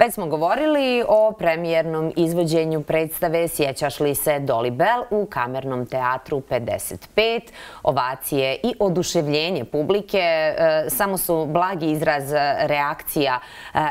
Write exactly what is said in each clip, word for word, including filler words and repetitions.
Već smo govorili o premijernom izvođenju predstave Sjećaš li se Dolly Bell u Kamernom teatru pedeset pet. Ovacije i oduševljenje publike samo su blagi izraz reakcija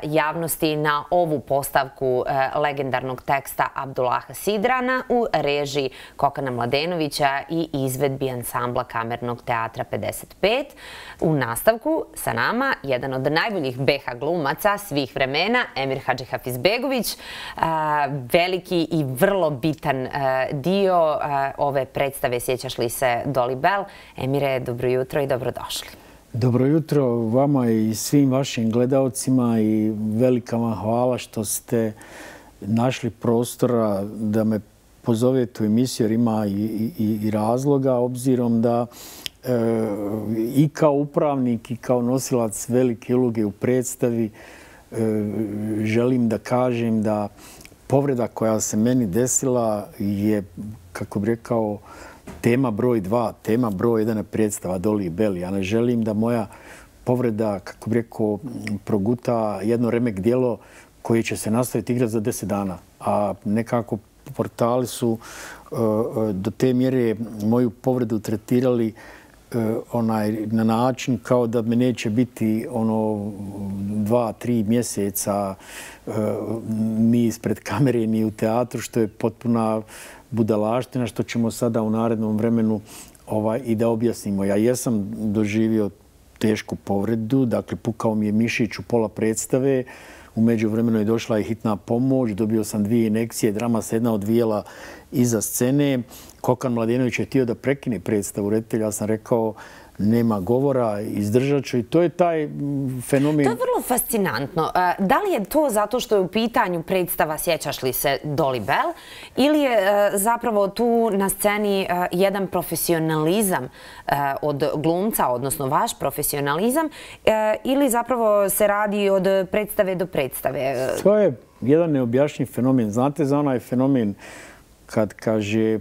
javnosti na ovu postavku legendarnog teksta Abdullaha Sidrana u režiji Kokana Mladenovića i izvedbi ansambla Kamernog teatra pedeset pet. U nastavku sa nama jedan od najboljih be ha glumaca svih vremena, Emir Hadžihafizbegović, veliki i vrlo bitan dio ove predstave Sjećaš li se Dolly Bell. Emire, dobro jutro i dobrodošli. Dobro jutro vama i svim vašim gledalcima i velika vam hvala što ste našli prostora da me pozovete u emisiju jer ima i, i, i razloga, obzirom da e, i kao upravnik i kao nosilac velike uloge u predstavi e, želim da kažem da povreda koja se meni desila je, kako bih rekao, tema broj dva, tema broj jedan je predstava Dolly Bell. Ja ne želim da moja povreda, kako bih rekao, proguta jedno remek djelo koje će se nastaviti igrati za deset dana. A nekako portali su uh, do te mjere moju povredu tretirali uh, onaj, na način kao da me neće biti ono dva, tri mjeseca uh, ni ispred kamere ni u teatru, što je potpuna budalaština, što ćemo sada u narednom vremenu ovaj, i da objasnimo. Ja jesam doživio tešku povredu, dakle pukao mi je mišić u pola predstave. U međuvremenu je došla i hitna pomoć, dobio sam dvije injekcije, drama se jedna odvijela iza scene. Kokan Mladenović je htio da prekine predstavu reditelja, ja sam rekao nema govora, izdržat ću i to je taj fenomen. To je vrlo fascinantno. Da li je to zato što je u pitanju predstava Sjećaš li se Dolly Bell ili je zapravo tu na sceni jedan profesionalizam od glumca, odnosno vaš profesionalizam, ili zapravo se radi od predstave do predstave? To je jedan neobjašnjiv fenomen. Znate za onaj fenomen kad kaže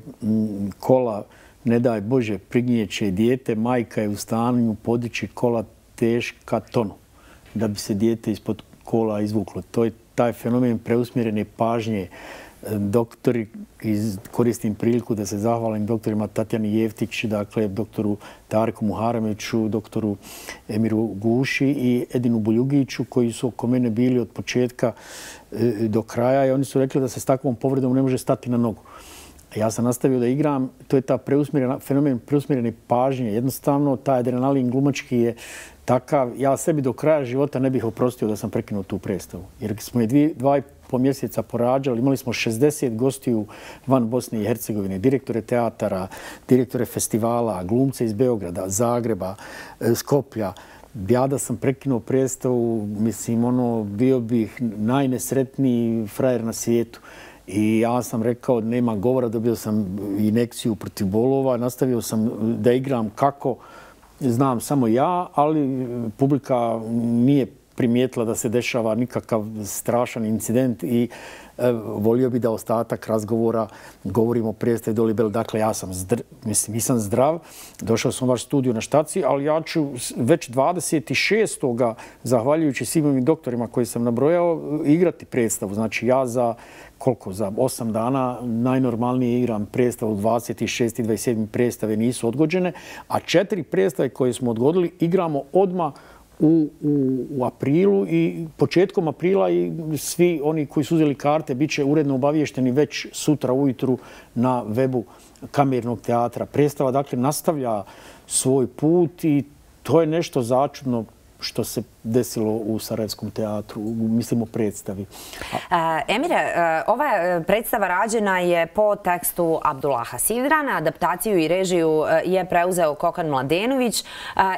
kola ne daj Bože, prignijeće dijete, majka je u stanju podići kola teška tonu da bi se dijete ispod kola izvuklo. To je taj fenomen preusmjerene pažnje. Doktori, koristim priliku da se zahvalim doktorima Tatjani Jeftić, dakle doktoru Tarku Muharemeću, doktoru Emiru Guši i Edinu Buljugiću, koji su oko mene bili od početka do kraja i oni su rekli da se s takvom povredom ne može stati na nogu. Ja sam nastavio da igram, to je ta fenomen preusmjerene pažnje. Jednostavno, taj adrenalin glumački je takav. Ja sebi do kraja života ne bih oprostio da sam prekinuo tu predstavu. Jer smo je dvije, dva i po mjeseca porađali, imali smo šezdeset gostiju van Bosne i Hercegovine, direktore teatara, direktore festivala, glumce iz Beograda, Zagreba, Skoplja. Ja da sam prekinuo predstavu, mislim, ono, bio bih najnesretniji frajer na svijetu. I ja sam rekao nema govora, dobio sam injekciju protiv bolova, nastavio sam da igram kako znam samo ja, ali publika nije primijetila da se dešava nikakav strašan incident i e, volio bi da ostatak razgovora govorimo o predstavi Dolly Bell. Dakle, ja sam zdr, mislim, nisam zdrav, došao sam u vaš studio na štaci, ali ja ću već dvadeset šestog zahvaljujući svim ovim doktorima koji sam nabrojao, igrati predstavu. Znači, ja za koliko? Za osam dana najnormalnije igram predstavu, dvadeset šest i dvadeset sedam predstave nisu odgođene, a četiri predstave koje smo odgodili igramo odmah U, u, u aprilu i početkom aprila i svi oni koji su uzeli karte bit će uredno obavješteni već sutra ujutru na webu Kamernog teatra. Predstava dakle nastavlja svoj put i to je nešto začudno što se desilo u Sarajevskom teatru, mislim o predstavi. A... Emire, ova predstava rađena je po tekstu Abdullaha Sidrana, adaptaciju i režiju je preuzeo Kokan Mladenović,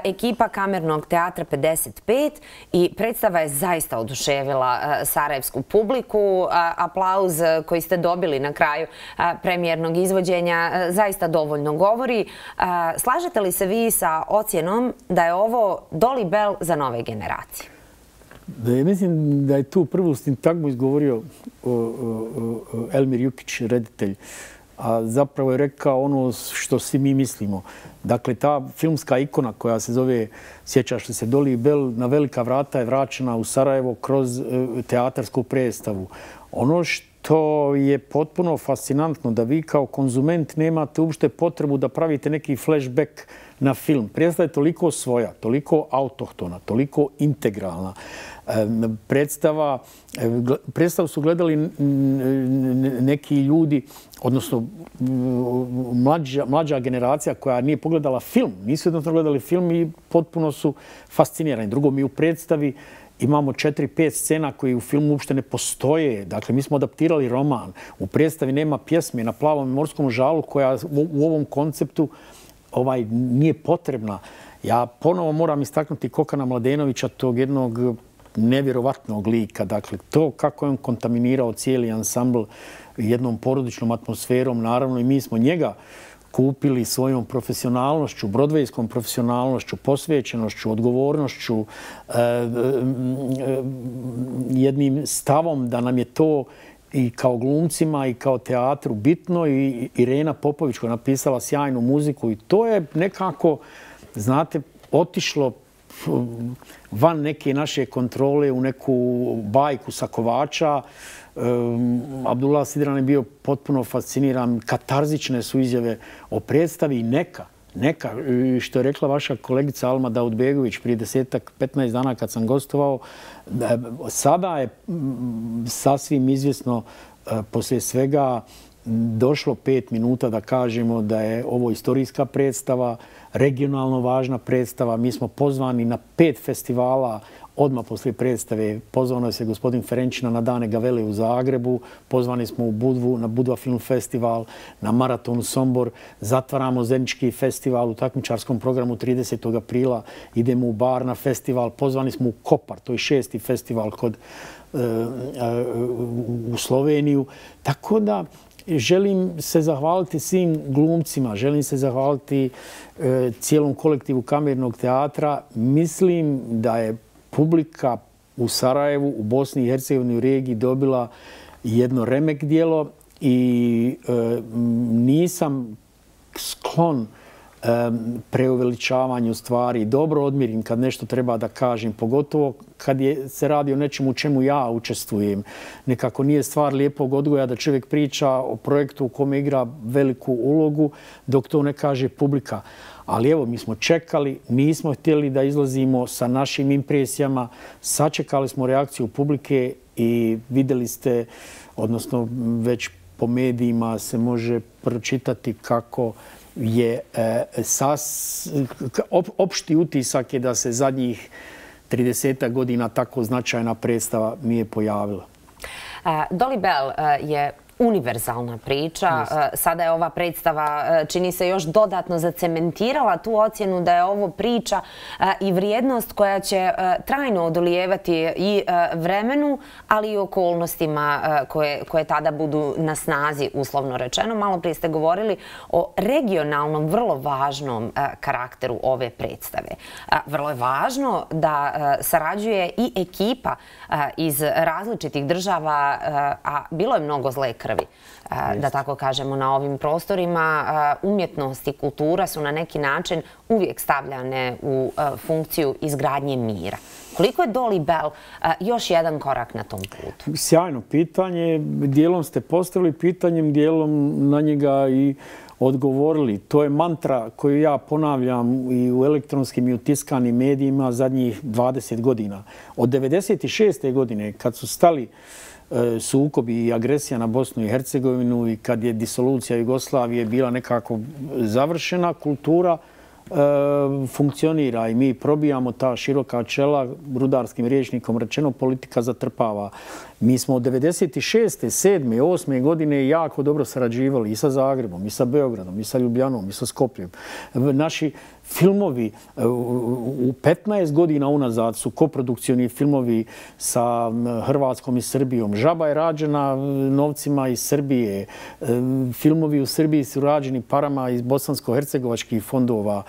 ekipa Kamernog teatra pedeset pet i predstava je zaista oduševila sarajevsku publiku. Aplauz koji ste dobili na kraju premijernog izvođenja zaista dovoljno govori. Slažete li se vi sa ocjenom da je ovo Dolly Bell za nove generacije? Da je, mislim da je tu prvu sintagmu izgovorio o, o, o, Elmir Jukić, reditelj a zapravo je rekao ono što svi mi mislimo. Dakle, ta filmska ikona koja se zove, sjećaš li se, Dolly Bell na velika vrata je vraćena u Sarajevo kroz teatarsku predstavu. Ono što je potpuno fascinantno da vi kao konzument nemate uopšte potrebu da pravite neki flashback na film. Predstava je toliko svoja, toliko autohtona, toliko integralna. Predstava, predstavu su gledali neki ljudi, odnosno mlađa, mlađa generacija koja nije pogledala film. Nisu jednostavno gledali film i potpuno su fascinirani. Drugo, mi u predstavi imamo četiri, pet scena koji u filmu uopšte ne postoje. Dakle, mi smo adaptirali roman. U predstavi nema pjesme Na plavom morskom žalu koja u ovom konceptu ovaj, nije potrebna. Ja ponovo moram istaknuti Kokana Mladenovića, tog jednog nevjerovatnog lika. Dakle, to kako je on kontaminirao cijeli ansambl jednom porodičnom atmosferom, naravno i mi smo njega kupili svojom profesionalnošću, brodvejskom profesionalnošću, posvećenošću, odgovornošću, jednim stavom da nam je to i kao glumcima i kao teatru bitno. I Irena Popović koja je napisala sjajnu muziku i to je nekako, znate, otišlo van neke naše kontrole u neku bajku sa Kovača. Abdullah Sidran je bio potpuno fasciniran. Katarzične su izjave o predstavi i neka, neka, što je rekla vaša kolegica Alma Daudbegović prije desetak, petnaest dana kad sam gostovao. Sada je sasvim izvjesno poslije svega došlo pet minuta da kažemo da je ovo istorijska predstava, regionalno važna predstava. Mi smo pozvani na pet festivala odmah poslije predstave. Pozvano se gospodin Ferenčina na Dane Gavele u Zagrebu, pozvani smo u Budvu, na Budva film festival, na Maraton u Sombor, zatvaramo Zenički festival u takmičarskom programu tridesetog aprila, idemo u Bar na festival, pozvani smo u Kopar, to je šesti festival kod, uh, uh, u Sloveniju. Tako da želim se zahvaliti svim glumcima, želim se zahvaliti uh, cijelom kolektivu Kamernog teatra. Mislim da je publika u Sarajevu, u Bosni i Hercegovini, u regiji dobila jedno remek djelo i e, nisam sklon e, preuveličavanju stvari. Dobro odmirim kad nešto treba da kažem, pogotovo kad je, se radi o nečemu u čemu ja učestvujem. Nekako nije stvar lijepog odgoja da čovjek priča o projektu u kome igra veliku ulogu dok to ne kaže publika. Ali evo, mi smo čekali, nismo htjeli da izlazimo sa našim impresijama, sačekali smo reakciju publike i vidjeli ste, odnosno već po medijima se može pročitati kako je e, sas, op, opšti utisak je da se zadnjih trideset godina tako značajna predstava nije pojavila. Uh, Dolly Bell uh, je univerzalna priča. Sada je ova predstava, čini se, još dodatno zacementirala tu ocjenu da je ovo priča i vrijednost koja će trajno odolijevati i vremenu, ali i okolnostima koje, koje tada budu na snazi, uslovno rečeno. Malo prije ste govorili o regionalnom, vrlo važnom karakteru ove predstave. Vrlo je važno da sarađuje i ekipa iz različitih država, a bilo je mnogo zle krvi, da tako kažemo, na ovim prostorima. Umjetnost i kultura su na neki način uvijek stavljane u funkciju izgradnje mira. Koliko je Dolly Bell još jedan korak na tom putu? Sjajno pitanje. Dijelom ste postavili pitanjem, dijelom na njega i odgovorili. To je mantra koju ja ponavljam i u elektronskim i u tiskanim medijima zadnjih dvadeset godina. Od devedeset šeste godine kad su stali sukobi i agresija na Bosnu i Hercegovinu i kad je disolucija Jugoslavije bila nekako završena, kultura e, funkcionira i mi probijamo ta široka čela, rudarskim rječnikom rečeno, politika zatrpava. Mi smo od devedeset šeste, sedme, osme godine jako dobro sarađivali i sa Zagrebom, i sa Beogradom, i sa Ljubljanom, i sa Skopljem. Naši filmovi u petnaest godina unazad su koprodukcioni filmovi sa Hrvatskom i Srbijom. Žaba je rađena novcima iz Srbije. Filmovi u Srbiji su rađeni parama iz bosansko-hercegovačkih fondova.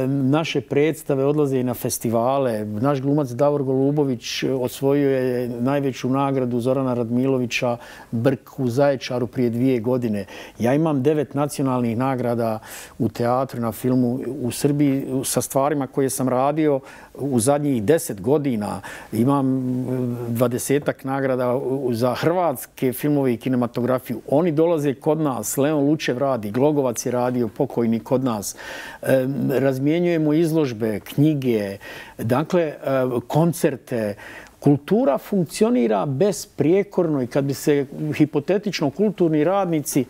Naše predstave odlaze i na festivale. Naš glumac Davor Golubović osvojio je najveću nagradu Zorana Radmilovića Brk u Zaječaru prije dvije godine. Ja imam devet nacionalnih nagrada u teatru, na filmu u Srbiji sa stvarima koje sam radio u zadnjih deset godina. Imam dvadesetak nagrada za hrvatske filmove i kinematografiju. Oni dolaze kod nas. Leon Lučev radi, Glogovac je radio, pokojni, kod nas. Razmjenjujemo izložbe, knjige, dakle, koncerte. Kultura funkcionira besprijekorno i kad bi se hipotetično kulturni radnici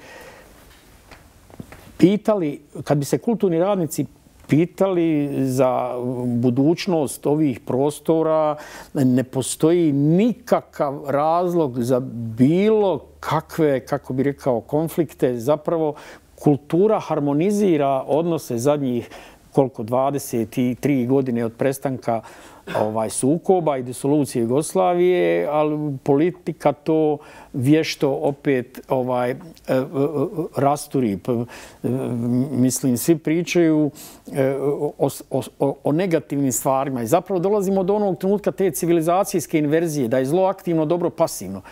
pitali, kad bi se kulturni radnici pitali za budućnost ovih prostora, ne postoji nikakav razlog za bilo kakve, kako bi rekao, konflikte. Zapravo, kultura harmonizira odnose zadnjih koliko, dvadeset tri godine od prestanka ovaj, sukoba i disolucije Jugoslavije, ali politika to vješto opet ovaj, rasturi. Mislim, svi pričaju o, o, o negativnim stvarima i zapravo dolazimo do onog trenutka te civilizacijske inverzije, da je zlo aktivno, dobro pasivno.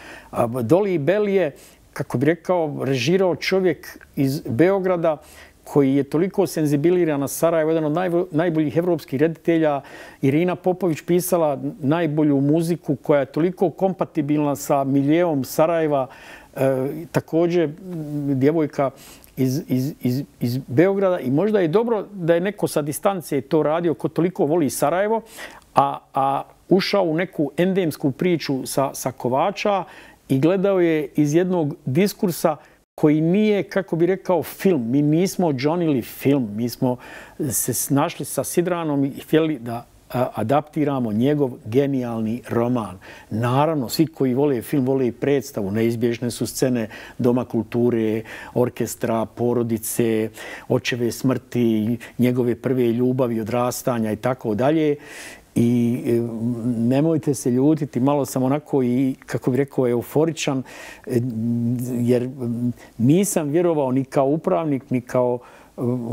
Doli Bell je, kako bi rekao, režirao čovjek iz Beograda koji je toliko senzibiliran na Sarajevo, jedan od najboljih evropskih reditelja. Irina Popović pisala najbolju muziku koja je toliko kompatibilna sa miljeom Sarajeva. E, također, djevojka iz, iz, iz, iz Beograda. I možda je dobro da je neko sa distance to radio ko toliko voli Sarajevo, a, a ušao u neku endemsku priču sa, sa Kovača i gledao je iz jednog diskursa koji nije, kako bi rekao, film. Mi nismo džonili film. Mi smo se našli sa Sidranom i htjeli da adaptiramo njegov genijalni roman. Naravno, svi koji vole film, vole i predstavu. Neizbježne su scene Doma kulture, orkestra, porodice, očeve smrti, njegove prve ljubavi, odrastanja i tako dalje. I nemojte se ljutiti, malo sam onako i, kako bih rekao, euforičan, jer nisam vjerovao ni kao upravnik, ni kao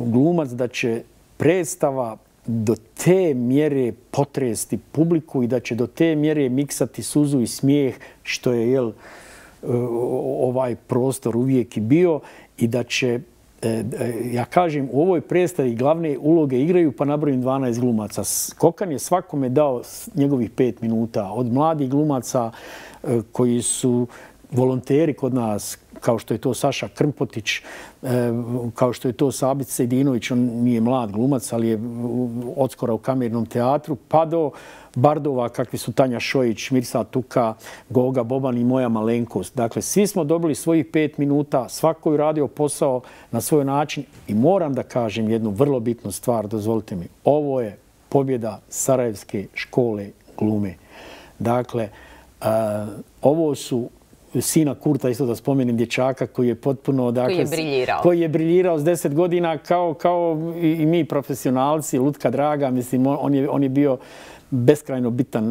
glumac da će predstava do te mjere potresti publiku i da će do te mjere miksati suzu i smijeh, što je jel, ovaj prostor uvijek i bio, i da će, ja kažem, u ovoj predstavi glavne uloge igraju, pa nabrojim dvanaest glumaca. Kokan je svakome dao njegovih pet minuta. Od mladih glumaca koji su volonteri kod nas, kao što je to Saša Krmpotić, kao što je to Sabit Sejdinović, on nije mlad glumac, ali je odskora u kamernom teatru, pa do bardova kakvi su Tanja Šojić, Mirsa Tuka, Goga Boban i moja malenkost. Dakle, svi smo dobili svojih pet minuta, svako je radio posao na svoj način i moram da kažem jednu vrlo bitnu stvar, dozvolite mi. Ovo je pobjeda Sarajevske škole glume. Dakle, ovo su sina Kurta, isto da spomenem, dječaka koji je potpuno... Dakle, koji je briljirao. Koji je briljirao s deset godina kao, kao i mi profesionalci, Lutka Draga. Mislim, on je, on je bio beskrajno bitan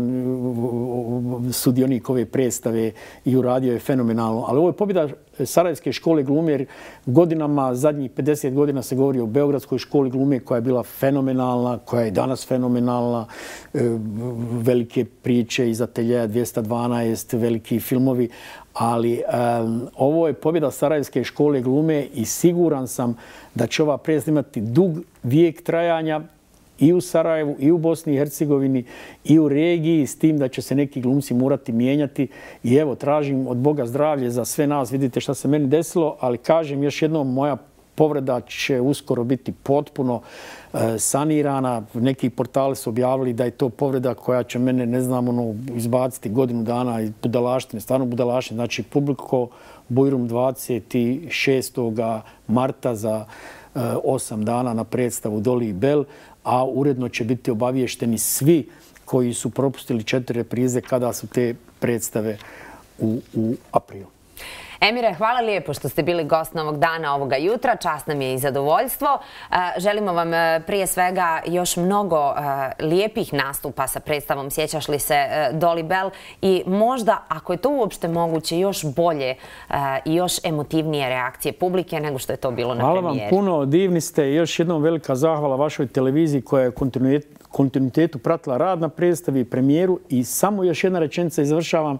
sudionik ove predstave i uradio je fenomenalno. Ali ovo je pobjeda Sarajevske škole glume, jer godinama, zadnjih pedeset godina se govori o Beogradskoj školi glume koja je bila fenomenalna, koja je danas fenomenalna. Velike priče iz Ateljeja dvjesto dvanaest, veliki filmovi. Ali um, ovo je pobjeda Sarajevske škole glume i siguran sam da će ova predstava imati dug vijek trajanja i u Sarajevu, i u Bosni i Hercegovini, i u regiji, s tim da će se neki glumci morati mijenjati. I evo, tražim od Boga zdravlje za sve nas. Vidite šta se meni desilo, ali kažem još jednom, moja povreda će uskoro biti potpuno e, sanirana. Neki portali su objavili da je to povreda koja će mene, ne znam, ono, izbaciti godinu dana iz budalaštine, stvarno budalaštine. Znači, publiko Bujrum dvadeset šestog marta za e, osam dana na predstavu Doli Bell, a uredno će biti obavješteni svi koji su propustili četiri reprize kada su te predstave u, u aprilu. Emire, hvala lijepo što ste bili gost novog dana ovoga jutra. Čast nam je i zadovoljstvo. Želimo vam prije svega još mnogo lijepih nastupa sa predstavom Sjećaš li se Dolly Bell i možda, ako je to uopšte moguće, još bolje i još emotivnije reakcije publike nego što je to bilo na premijeri. Hvala vam puno, divni ste. Još jednom velika zahvala vašoj televiziji koja je kontinuitetu pratila rad na predstavi, premijeru i samo još jedna rečenica i završavam.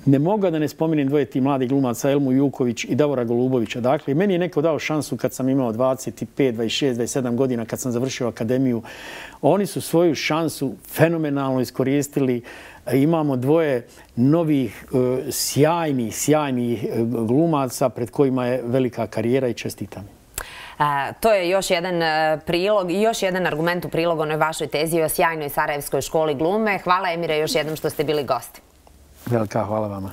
Ne mogu da ne spomenem dvoje ti mladih glumaca, Elmu Juković i Davora Golubovića. Dakle, meni je neko dao šansu kad sam imao dvadeset pet, dvadeset šest, dvadeset sedam godina, kad sam završio akademiju. Oni su svoju šansu fenomenalno iskoristili. Imamo dvoje novih, sjajnih, sjajnih glumaca pred kojima je velika karijera i čestitam. To je još jedan prilog i još jedan argument u prilog onoj vašoj tezi o sjajnoj Sarajevskoj školi glume. Hvala, Emire, još jednom što ste bili gosti. Velika hvala vama.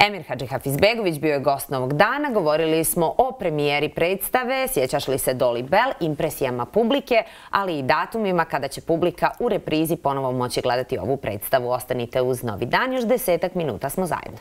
Emir Hadžihafizbegović bio je gost novog dana. Govorili smo o premijeri predstave Sjećaš li se Dolly Bell, impresijama publike, ali i datumima kada će publika u reprizi ponovo moći gledati ovu predstavu. Ostanite uz Novi dan, još desetak minuta smo zajedno.